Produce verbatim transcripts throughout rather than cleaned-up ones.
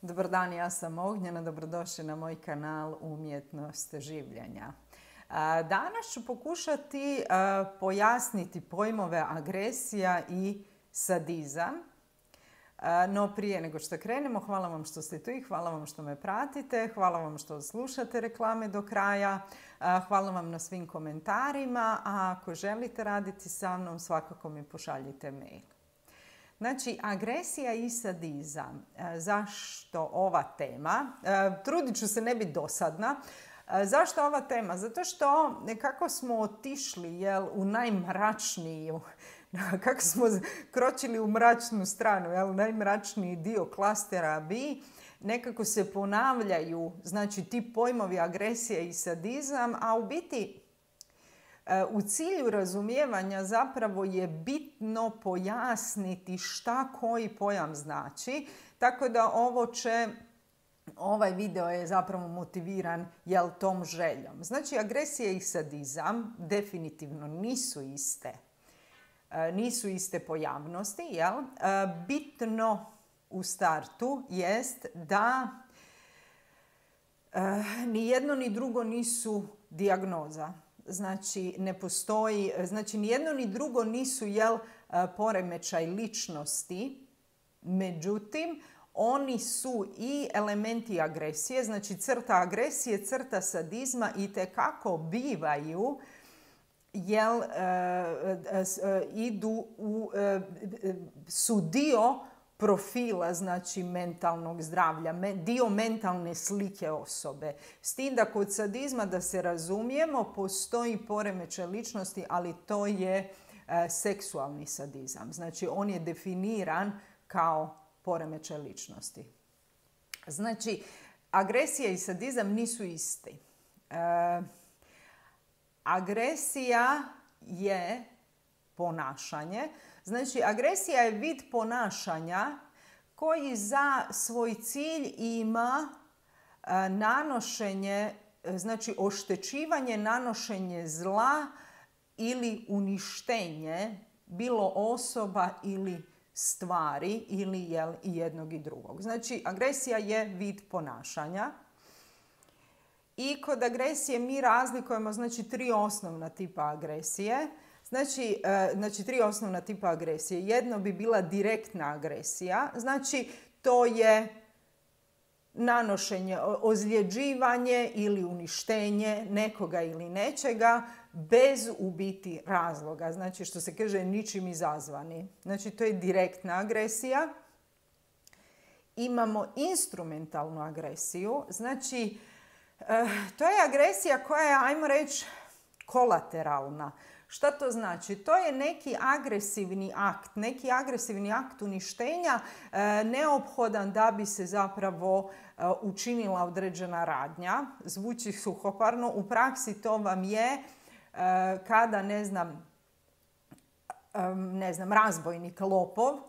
Dobar dan, ja sam Ognjena, dobrodošli na moj kanal Umjetnost življenja. Danas ću pokušati pojasniti pojmove agresija i sadizam. No prije nego što krenemo, hvala vam što ste tu i hvala vam što me pratite, hvala vam što slušate reklame do kraja, hvala vam na svim komentarima, a ako želite raditi sa mnom, svakako mi pošaljite mail. Znači, agresija i sadizam. Zašto ova tema? Trudit ću se ne biti dosadna. Zašto ova tema? Zato što nekako smo otišli jel, u najmračniju, kako smo kročili u mračnu stranu, jel, najmračniji dio klastera B, nekako se ponavljaju znači, ti pojmovi agresija i sadizam, a u biti u cilju razumijevanja zapravo je bitno pojasniti šta koji pojam znači, tako da ovo će, ovaj video je zapravo motiviran jel, tom željom. Znači, agresija i sadizam definitivno nisu iste, nisu iste pojavnosti. Jel? Bitno u startu jest da ni jedno ni drugo nisu dijagnoza. Znači, ne postoji, znači, ni jedno ni drugo nisu jel, poremećaj ličnosti, međutim, oni su i elementi agresije, znači crta agresije, crta sadizma itekako bivaju, jel, idu u, su dio profila, znači mentalnog zdravlja, dio mentalne slike osobe. S tim da kod sadizma, da se razumijemo, postoji poremećaj ličnosti, ali to je e, seksualni sadizam. Znači, on je definiran kao poremećaj ličnosti. Znači, agresija i sadizam nisu isti. E, agresija je ponašanje. Znači, agresija je vid ponašanja koji za svoj cilj ima e, nanošenje, znači oštećivanje, nanošenje zla ili uništenje bilo osoba ili stvari ili jel, i jednog i drugog. Znači, agresija je vid ponašanja. I kod agresije mi razlikujemo znači, tri osnovna tipa agresije. Znači, znači, tri osnovna tipa agresije. Jedno bi bila direktna agresija. Znači, to je nanošenje, ozljeđivanje ili uništenje nekoga ili nečega bez u biti razloga. Znači, što se kaže, ničim izazvani. Znači, to je direktna agresija. Imamo instrumentalnu agresiju. Znači, to je agresija koja je, ajmo reći, kolateralna. Šta to znači? To je neki agresivni akt, neki agresivni akt uništenja e, neophodan da bi se zapravo e, učinila određena radnja. Zvuči suhoparno. U praksi to vam je e, kada, ne znam, e, ne znam, razbojnik, lopov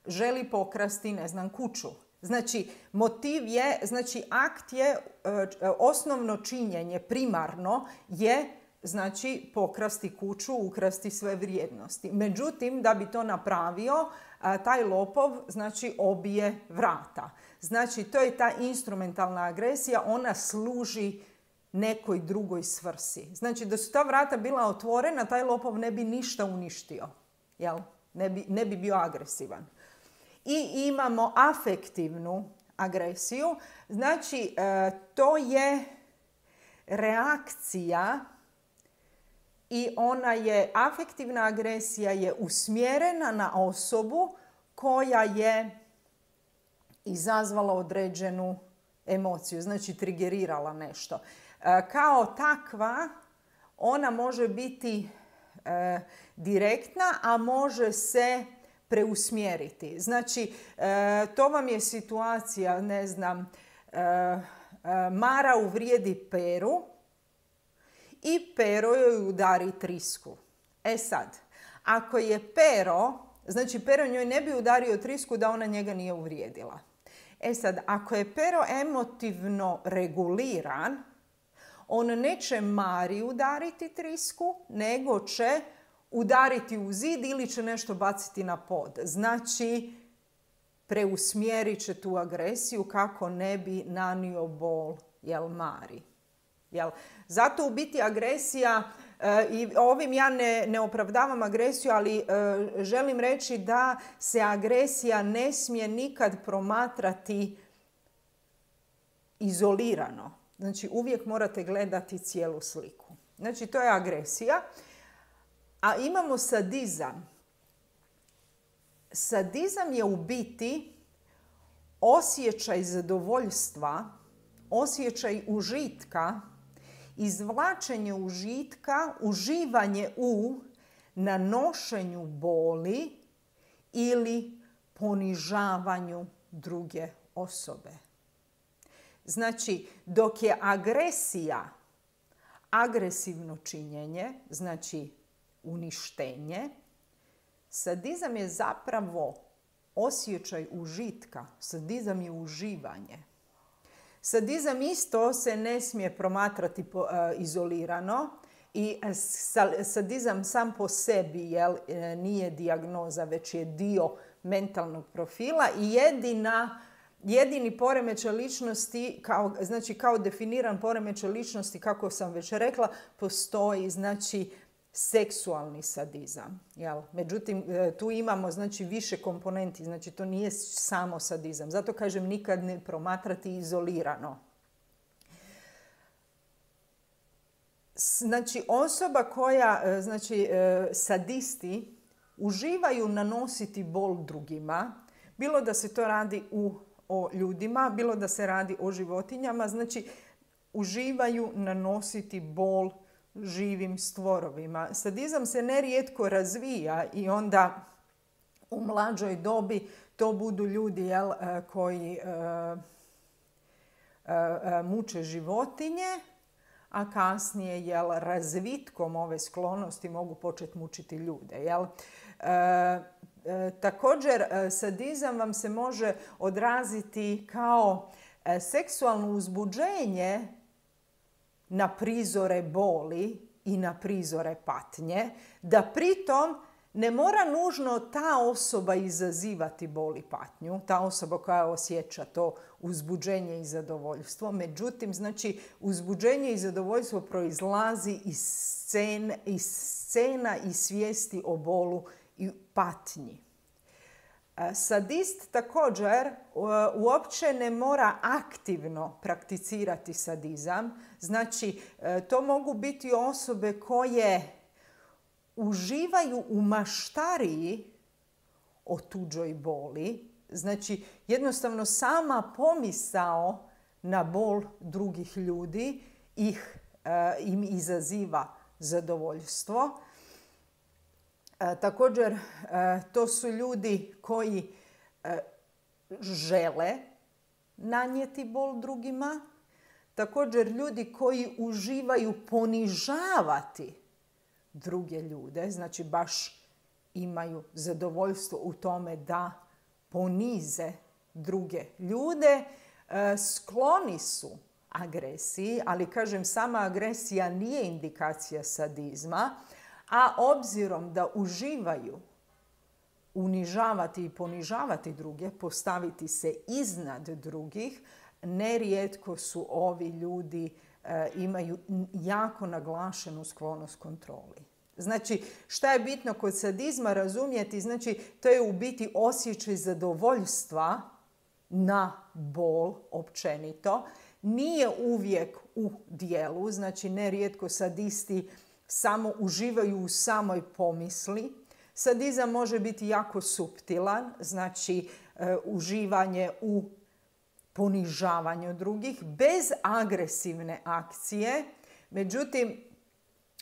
želi pokrasti, ne znam, kuću. Znači, motiv je, znači, akt je, e, osnovno činjenje, primarno je znači pokrasti kuću, ukrasti sve vrijednosti. Međutim, da bi to napravio, taj lopov znači obije vrata. Znači, to je ta instrumentalna agresija, ona služi nekoj drugoj svrsi. Znači, da su ta vrata bila otvorena, taj lopov ne bi ništa uništio. Jel? Ne bi, ne bi bio agresivan. I imamo afektivnu agresiju. Znači, to je reakcija i ona je, afektivna agresija je usmjerena na osobu koja je izazvala određenu emociju, znači trigerirala nešto. E, kao takva, ona može biti e, direktna, a može se preusmjeriti. Znači, e, to vam je situacija, ne znam, e, e, Mara uvrijedi Peru, i Pero joj udari trisku. E sad, ako je Pero, znači Pero njoj ne bi udario trisku da ona njega nije uvrijedila. E sad, ako je Pero emotivno reguliran, on neće Mari udariti trisku, nego će udariti u zid ili će nešto baciti na pod. Znači, preusmjerit će tu agresiju kako ne bi nanio bol, jel, Mari. Jel? Zato u biti agresija, e, i ovim ja ne, ne opravdavam agresiju, ali e, želim reći da se agresija ne smije nikad promatrati izolirano. Znači uvijek morate gledati cijelu sliku. Znači to je agresija. A imamo sadizam. Sadizam je u biti osjećaj zadovoljstva, osjećaj užitka, izvlačenje užitka, uživanje u nanošenju boli ili ponižavanju druge osobe. Znači, dok je agresija agresivno činjenje, znači uništenje, sadizam je zapravo osjećaj užitka. Sadizam je uživanje. Sadizam isto se ne smije promatrati po, uh, izolirano i sadizam sam po sebi jel, nije dijagnoza, već je dio mentalnog profila i jedina, jedini poremećaj ličnosti, kao, znači kao definiran poremećaj ličnosti, kako sam već rekla, postoji znači seksualni sadizam. Jel? Međutim, tu imamo znači više komponenti, znači to nije samo sadizam. Zato kažem nikad ne promatrati izolirano. Znači osoba koja, znači sadisti uživaju nanositi bol drugima, bilo da se to radi u, o ljudima, bilo da se radi o životinjama, znači uživaju nanositi bol živim stvorovima. Sadizam se nerijetko razvija i onda u mlađoj dobi to budu ljudi jel, koji uh, uh, muče životinje, a kasnije jel, razvitkom ove sklonosti mogu početi mučiti ljude. Jel? Uh, uh, također, uh, sadizam vam se može odraziti kao uh, seksualno uzbuđenje na prizore boli i na prizore patnje, da pritom ne mora nužno ta osoba izazivati bol i patnju, ta osoba koja osjeća to uzbuđenje i zadovoljstvo. Međutim, znači, uzbuđenje i zadovoljstvo proizlazi iz scene, iz scena i svijesti o bolu i patnji. Sadist također uopće ne mora aktivno prakticirati sadizam. Znači, to mogu biti osobe koje uživaju u maštariji o tuđoj boli. Znači, jednostavno sama pomisao na bol drugih ljudi ih, im izaziva zadovoljstvo. E, također, e, to su ljudi koji e, žele nanijeti bol drugima. Također, ljudi koji uživaju ponižavati druge ljude. Znači, baš imaju zadovoljstvo u tome da ponize druge ljude. E, skloni su agresiji, ali kažem, sama agresija nije indikacija sadizma. A obzirom da uživaju unižavati i ponižavati druge, postaviti se iznad drugih, nerijetko su ovi ljudi e, imaju jako naglašenu sklonost kontroli. Znači, šta je bitno kod sadizma razumjeti? Znači, to je u biti osjećaj zadovoljstva na bol općenito. Nije uvijek u dijelu, znači nerijetko sadisti samo uživaju u samoj pomisli. Sadizam može biti jako suptilan, znači e, uživanje u ponižavanju drugih bez agresivne akcije. Međutim,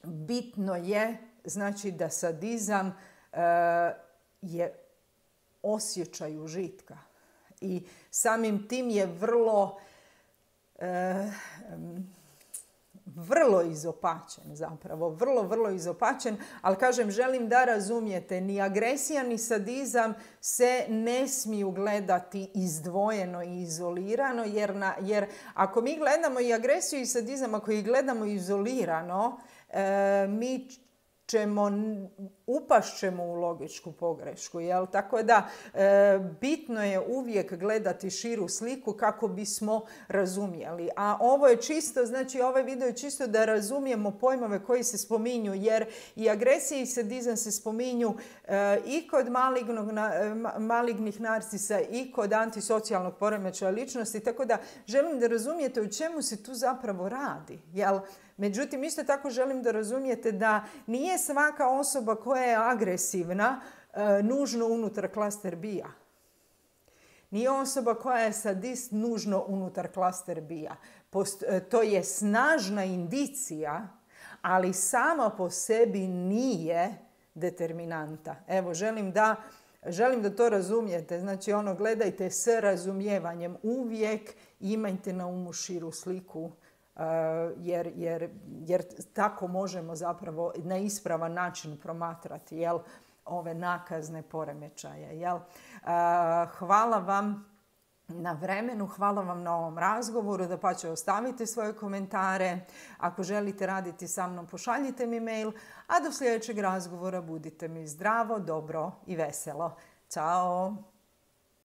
bitno je znači da sadizam e, je osjećaj užitka i samim tim je vrlo e, vrlo izopačen zapravo, vrlo, vrlo izopačen, ali kažem, želim da razumijete, ni agresija ni sadizam se ne smiju gledati izdvojeno i izolirano, jer, na, jer ako mi gledamo i agresiju i sadizam, ako ih gledamo izolirano, e, mi ćemo upašćemo u logičku pogrešku. Jel? Tako da e, bitno je uvijek gledati širu sliku kako bismo razumjeli. A ovo je čisto, znači ovaj video je čisto da razumijemo pojmove koji se spominju, jer i agresija i sadizam se spominju e, i kod malignog, na, malignih narcisa i kod antisocijalnog poremećaja ličnosti. Tako da želim da razumijete o čemu se tu zapravo radi. Jel? Međutim, isto tako želim da razumijete da nije svaka osoba koja je agresivna e, nužno unutar klaster B-a. Nije osoba koja je sadist nužno unutar klaster B-a. E, to je snažna indicija, ali sama po sebi nije determinanta. Evo, želim da, želim da to razumijete. Znači, ono, gledajte s razumijevanjem. Uvijek imajte na umu širu sliku. Uh, jer, jer, jer tako možemo zapravo na ispravan način promatrati, jel, ove nakazne poremećaje. Jel? Uh, hvala vam na vremenu, hvala vam na ovom razgovoru, dapače ostavite svoje komentare. Ako želite raditi sa mnom, pošaljite mi mail, a do sljedećeg razgovora budite mi zdravo, dobro i veselo. Ćao!